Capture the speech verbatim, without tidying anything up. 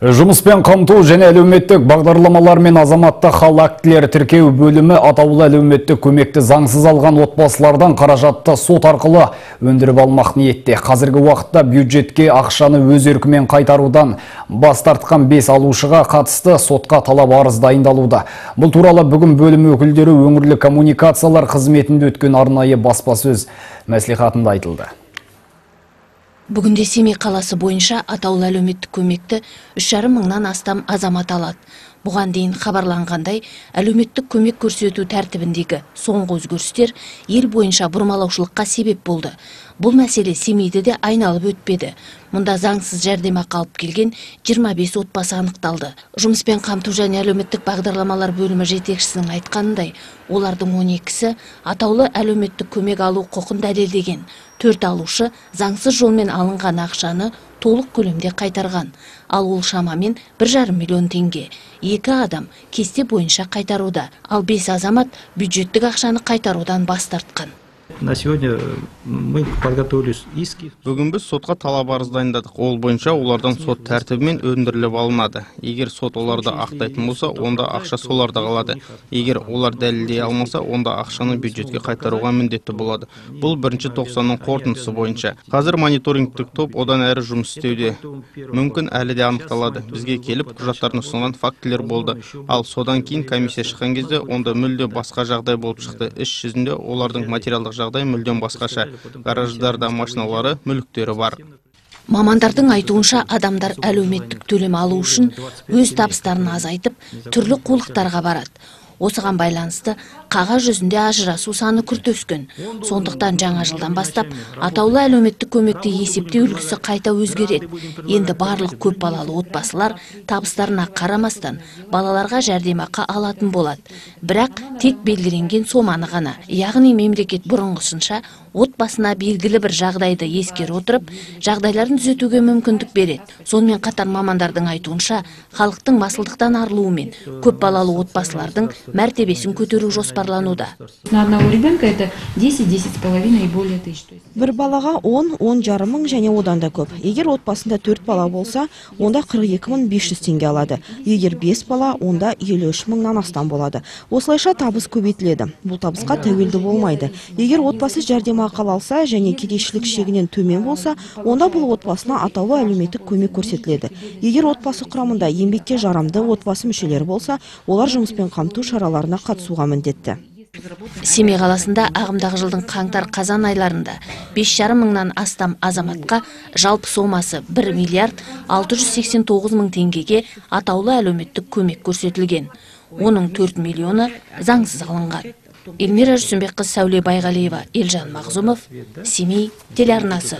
Жұмыспен қамту және әлеуметтік бағдарламалар мен азаматтық хал актілері тіркеу бөлімі атаулы әлеуметтік көмекті заңсыз алған отбасылардан қаражатты сот арқылы өндіріп алмақ ниетте. Қазіргі уақытта бюджетке ақшаны өз еркімен қайтарудан бас тартқан бес алушыға қатысты сотқа талап арыз дайындалуда. Бұл туралы бүгін бөлім өкілдері өңірлік коммуникациялар қызметінде өткен арнайы баспасөз мәслихатында айтылды. Бүгінде Семей қаласы бойынша атаулы әлеуметтік көмекті үш жарым мыңнан астам азамат алады. Бұған дейін хабарланғандай, әлеуметтік көмек көрсету тәртібіндегі соңғы өзгерістер ел бойынша бұрмалаушылыққа себеп болды. Бұл мәселе Семейде де айналып өтпеді. Мұнда заңсыз жәрдемақы алып келген жиырма бес отбасы анықталды. Жұмыспен қамту және әлеуметтік бағдарламалар бөлімі жетекшісінің айтқанындай, олардың он екісі атаулы әлеуметтік көмек алу құқын дәлелдеген. Төрт алушы заңсыз жолмен алынған ақшаны толық көлемде қайтарған. Ал ол шамамен бір жарым миллион теңге. Екі адам кесте бойынша қайтаруда, ал бес азамат бюджеттік ақшаны қайтарудан бас тартқан. На сегодня мы подготовили иски. Бүгін біз сотқа талап арыз дайындадық. Ол бойынша олардан сот тәртібімен өндіріліп алынады. Егер сот оларды ақтайтын болса, онда ақша соларда қалады. Егер олар дәлелдей алмаса, онда ақшаны бюджетке қайтаруға міндетті болады. Бұл бірінші тоқсанның қорытындысы бойынша. Қазір мониторингтік топ одан әрі жұмыс істеуде. Мүмкін әлі де анықталады. Бізге келіп құжаттарын ұсынған фактілер болды. Ал содан кейін комиссия шыққан кезде онда мүлде басқа жағдай болып шықты. Іс жүзінде олардың материалдық жағдай мүлдем басқаша. Гараждарда машиналары, мүліктері бар. Мамандардың айтуынша адамдар әлеуметтік төлем алу үшін өз табыстарын азайтып, түрлі қулықтарға барады. Осыған байланысты қағаз жүзінде ажырасу саны күрт өскен. Сондықтан жаңа жылдан бастап атаулы әлеуметтік көмекті есептеу үлгісі қайта өзгереді. Енді барлық көп балалы отбасылар табыстарына қарамастан балаларға жәрдемақы алатын болады. Бірақ тек белгіленген соманы ғана, яғни мемлекет бұрынғысынша отбасына белгілі бір жағдайды ескере отырып, жағдайларын түзетуге мүмкіндік береді. Сонымен қатар мамандардың айтуынша, халықтың масылдықтан арылуымен көп балалы отбасылардың мәртебесін көтеру жоспарлануда. На одного ребенка это десять-десять с половиной и более тысяч. Бір балаға он-он жарым мың және одан да көп. Егер отбасында төрт бала болса, онда қырық екі мың бес жүз теңге алады. Егер бес бала, онда елу үш мыңнан астам болады. Осылайша табыс көбейтіледі. Бұл табысқа тәуелді болмайды. Егер отбасы жәрдемақы алса және кедейшілік шегінен төмен болса, онда бұл отбасына атаулы әлеуметтік көмек көрсетіледі. Егер отбасы құрамында еңбекке жарамды отбасы мүшелері болса, олар жұмыспен қамту шараларына қатысуға міндетті. Семей қаласында ағымдағы жылдың қаңтар-қазан айларында бес жарым мыңнан астам азаматқа жалпы сомасы бір миллиард алты жүз сексен тоғыз мың теңгеге атаулы әлеуметтік көмек көрсетілген. Оның төрт миллионы заңсыз алынған. Эльмира Жүрсінбекқызы, Сәуле Байғалиева, Елжан Мағзумов, Семей телеарнасы.